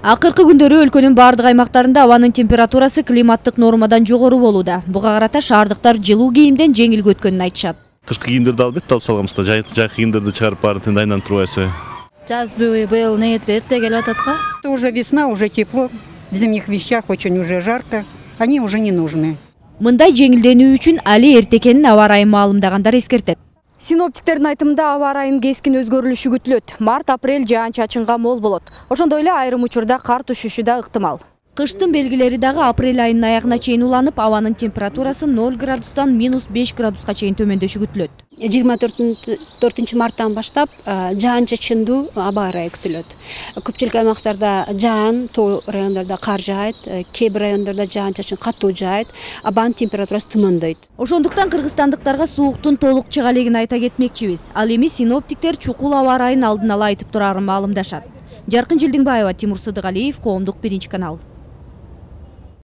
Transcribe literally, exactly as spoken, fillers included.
Акыркы күндөрү өлкөнүн бардык аймактарында абанын температурасы климаттык нормадан жогору болууда. Буга карата шаардыктар жылуу кийимден жеңил өткөнүн айтышат. Кышкы кийимдерди албетте алып салганбыз да, жайкы кийимдерди чыгарып баарын айланып турбайбызбы? Жаз быйыл эрте келип атат го. Уже весна, уже тепло. В зимних вещах очень уже жарко. Они уже не нужны. Мындай жеңилденүү үчүн али эрте экенин аба ырайын маалымдагандар эскертет. Синоптиктердин айтымында аба ырайынын кескин өзгөрүлүшү күтүлөт. Март-апрель жаан-чачынга мол болот. Ошондой эле айрым учурда кар түшүшү да ыктымал. Кыштын белгилери дагы апрель айынын аягына чейин уланып, абанын температурасы ноль градустан минус беш градуска чейин төмөндөшү күтүлөт. жыйырма төртүнчү марттан баштап жаан-чачындуу аба ырайы күтүлөт. Көпчүлүк аймактарда жаан, тоо райондордо кар жаайт, кээ бир райондордо жаан-чачын катуу жаайт, абанын температурасы төмөндөйт. Ошондуктан кыргызстандыктарга сууктун толук чыга элегин айта кетмекчибиз. Ал эми синоптиктер чукул аба ырайын алдын ала айтып турарын маалымдашат. Жаркын Жылдыңбаева, Тимур Сыдыгалиев, Коомдук биринчи канал.